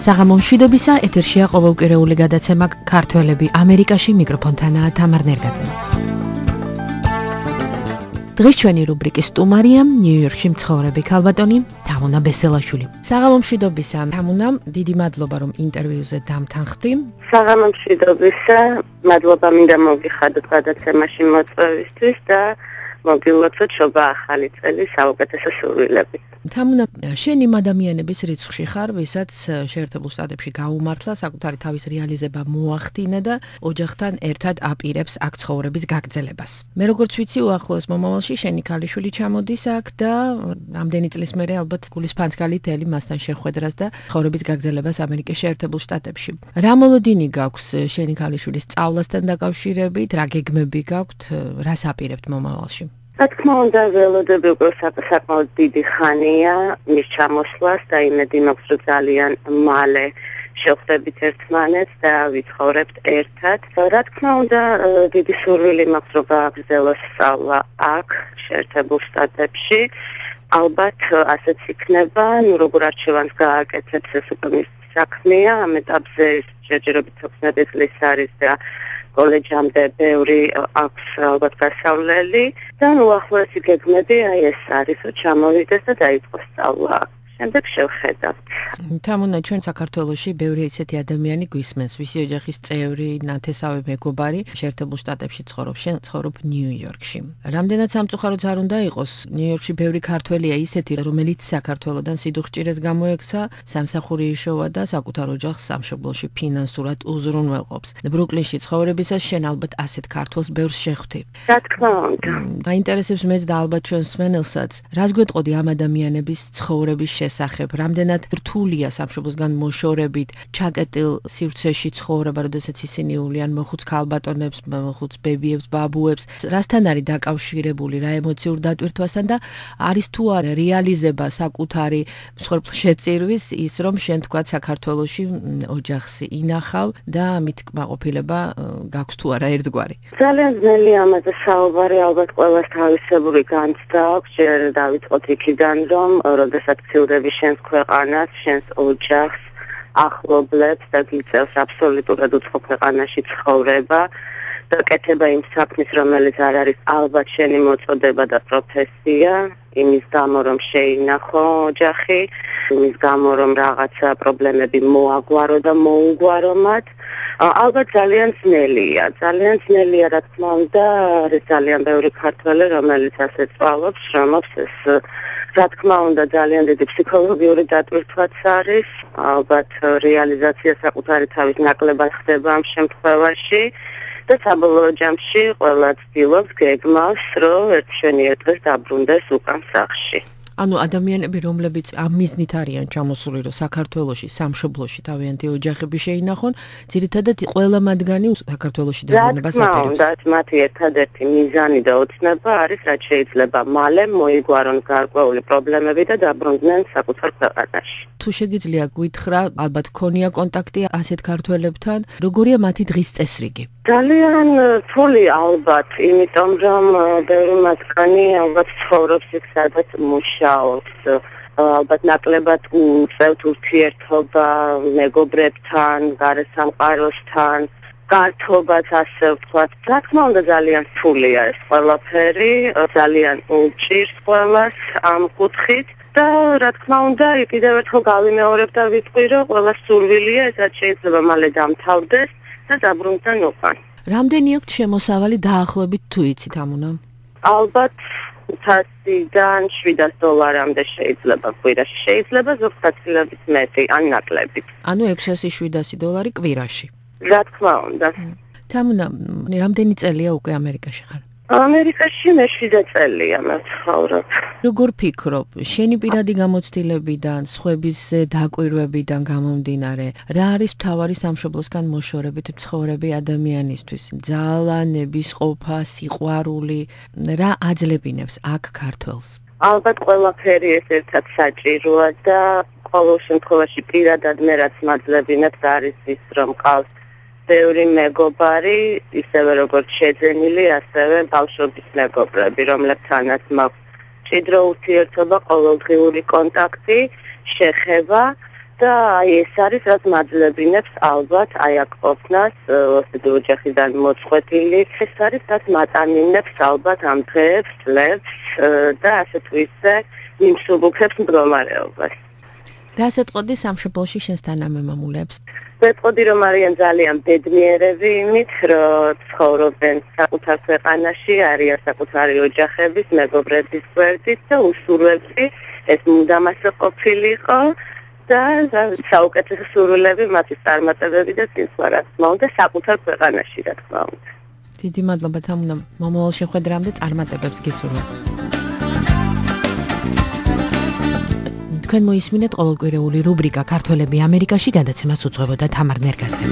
საღამო მშვიდობისა, ეთერშია ყოველკვირეული გადაცემა ქართველები ამერიკაში, მიკროფონთანაა თამარ ნერგაძე. დღეს ჩვენი რუბრიკის სტუმარია ნიუ-იორკში მცხოვრები ქალბატონი თამუნა ბესელაშვილი. საღამო მშვიდობისა, თამუნა, დიდი მადლობა რომ ინტერვიუზე დამთანხდი. საღამო მშვიდობისა, მადლობა მინდა მოგიხადოთ გადაცემაში მოწვევისთვის და მოგილოცოთ შობა ახალი წელი საუკეთესო სურვილებით. თამუნა, შენ იმ ადამიანების რიცხვში ხარ, ვისაც შეერთებულ შტატებში გაუმართლა, საკუთარი თავის რეალიზება მოახდინა და ოჯახთან ერთად აპირებს აქ ცხოვრების გაგრძელებას. მე როგორც ვიცი, უახლოეს მომავალში შენი ქალიშვილი ჩამოდის აქ და რამდენი წლის მერე ალბათ გულისფანცქალით ელი მასთან შეხვედრას და ცხოვრების გაგრძელებას ამერიკის შეერთებულ შტატებში. რა მოლოდინი გაქვს შენი ქალიშვილის სწავლასთან დაკავშირებით, რა გეგმები გაქვთ, რას აპირებთ მომავალში? რა თქმა უნდა, ველოდები უკვე საკმაოდ დიდი ხანია მის ჩამოსვლას და იმედი მაქვს, რომ ძალიან მალე შევხვდებით ერთმანეთს და ვიცხოვრებთ ერთად. რა თქმა უნდა, დიდი სურვილი მაქვს, რომ გააგრძელოს სწავლა აქ, შეერთებულ შტატებში. ალბათ ასეც იქნება, როგორ არჩევანს გააკეთებს, ეს უკვე მის საქმეა, ამ ეტაპზე შეჯერებით 16 წლის არის და კოლეჯამდე ბევრი აქვს ალბათ გასავლელი და უახლოესი გეგმები ეს არის, რომ ჩამოვიდეს და დაიწყოს სწავლა. შემდეგ შევხედავთ. თამუნა, ჩვენ საქართველოში ბევრი ისეთი ადამიანი გვისმენს, ვისი ოჯახის წევრი, ნათესავი მეგობარი შეერთებულ შტატებში ცხოვრობს, შენ ცხოვრობ ნიუ-იორკში. რამდენად სამწუხაროც არ უნდა იყოს, ნიუ-იორკში ბევრი ქართველია ისეთი, რომელიც საქართველოდან სიდუხჭირეს გამოექცა, სამსახური იშოვა და საკუთარ ოჯახს სამშობლოში ფინანსურად უზრუნველყოფს. ბრუკლინში ცხოვრებისას შენ ალბათ ასეთ ქართველს ბევრს შეხვდი. რა თქმა უნდა. გაინტერესებს მეც და ალბათ ჩვენ მსმენელსაც, რას გვეტყოდი ამ ადამიანების ცხოვრების შესახებ, რამდენად რთულია სამშობლოსგან მოშორებით, ჩაკეტილ სივრცეში ცხოვრება, როდესაც ისინი უვლიან მოხუც ქალბატონებს, მოხუც ბებიებს, ბაბუებს, რასთან არის დაკავშირებული, რა ემოციურ დატვირთვასთან და არის თუ არა რეალიზება საკუთარი მსხვერპლშეწირვის ის, რომ შენ თქვა საქართველოში ოჯახს ინახავ და ამით კმაყოფილება გაქვს თუ არა ერთგვარი. ძალიან ძნელი ამაზე საუბარი, ალბათ ყველას თავისებური განცდა აქვს, ჯერ დავიწყოთ იქიდან, რომ როდესაც შენს ქვეყანას, შენს ოჯახს, ახლობლებს და გიწევს აბსოლუტურად უცხო ქვეყანაში ცხოვრება და კეთება იმ საქმის, რომელიც არ არის ალბათ შენი მოწოდება და პროფესია, იმის გამო, რომ შეინახო ოჯახი, იმის გამო, რომ რაღაცა პრობლემები მოაგვარო და მოუგვარო მათ. ალბათ ძალიან ძნელია, რა თქმა უნდა, არის ძალიან ბევრი ქართველი, რომელიც ასე სწავლობს, შრომობს ეს რა თქმა უნდა, ძალიან დიდი ფსიქოლოგიური დატვირთვაც არის, ალბათ რეალიზაცია საკუთარი თავის ნაკლებად ხდება ამ შემთხვევაში და საბოლოო ჯამში ყველა ცდილობს, გეგმავს, რომ ერთშენიერ დღეს დაბრუნდეს უკან სახლში. ანუ ადამიანები, რომლებიც ამ მიზნით არიან ჩამოსული, რომ საქართველოში, სამშობლოში თავიანთი ოჯახები შეინახონ, ძირითადად ყველა მათგანი საქართველოში დაბრუნებას აპირებს. რა თქმა უნდა, მათი ერთადერთი მიზანი და ოცნება არის, რაც შეიძლება მალე მოიგვარონ გარკვეული პრობლემები და დაბრუნდნენ საკუთარ ქვეყანაში. თუ შეგიძლია გითხრა, ალბათ ქონია კონტაქტი ასეთ ქართველებთან, როგორია მათი დღის წესრიგი? ძალიან რთული ალბათ, იმიტომ რომ ბევრი მათგანი ალბათ ცხოვრობს იქ, სადაც მუშაობს. ალბათ ნაკლებად უწევთ ურთიერთობა მეგობრებთან, გარესამყაროსთან, გართობაც ასე ვთქვათ. რა თქმა უნდა, ძალიან რთულია ეს ყველაფერი, ძალიან უჭირს ყველას ამ კუთხით. და რა თქმა უნდა, კიდევ ერთხელ გავიმეორებ და ვიტყვი, რომ ყველას სურვილია, ესაც შეიძლება მალე დამთავრდეს და დაბრუნდნენ უკან. რამდენი აქვთ შემოსავალი დაახლოებით თუ იცით, თამუნა? ალბათ 100-დან $700-მდე შეიძლება კვირაში, შეიძლება ზოგ საცილებით მეტი, ან ნაკლებით. ანუ $600-700 კვირაში. რა თქმა უნდა. თამუნა, რამდენი წელია უკვე ამერიკაში ხარ? ამერიკაში მე 7 წელია მცხოვრობ. როგორ ფიქრობ, შენი პირადი გამოცდილებიდან, სხვების დაკვირვებიდან გამომდინარე, რა არის მთავარი სამშობლოსგან მოშორებით მცხოვრები ადამიანისთვის? ძალა, ნებისყოფა, სიყვარული, რა აძლევინებს აქ ქართველს? ალბათ ყველაფერი ეს ერთად საჭიროა და ყოველ შემთხვევაში პირადად მე რაც მაძლებინებს არის ის, რომ ყავს ბევრი მეგობარი, ისევე როგორც შეძენილი, ასევე ბავშვობის მეგობრები, რომლებთანაც მაქვს მჭიდრო ურთიერთობა, ყოველდღიური კონტაქტი, შეხება და ეს არის რაც მაძლევინებს ალბათ აი აქ ყოფნას ოსტატი ოჯახიდან მოწყვეტილი ეს არის რაც მატანინებს ალბათ ამ დღეებს წლებს და ასე თუ ისე იმსუბუქებს მდგომარეობას. რას ეტყოდი სამშობლოში შენს თანამემამულებს? ვეტყოდი რომ არიან ძალიან ბედნიერები იმით რომ ცხოვრობენ საკუთარ ქვეყანაში, არიან საკუთარი ოჯახების, მეგობრების გვერდით და უსურვებდი ეს მუდამასე ყოფილიყო და საუკეთესო სურვილები მათთვის წარმატებები და წინსვლა რა თქმა უნდა საკუთარ ქვეყანაში რა თქმა უნდა. დიდი მადლობა თამუნა მომავალ შეხვედრამდე წარმატებებს გისურვებ. თქვენ მოისმინეთ ყოველკვირეული რუბრიკა ქართველები ამერიკაში გადაცემას უძღვებოდა თამარ ნერგაძე.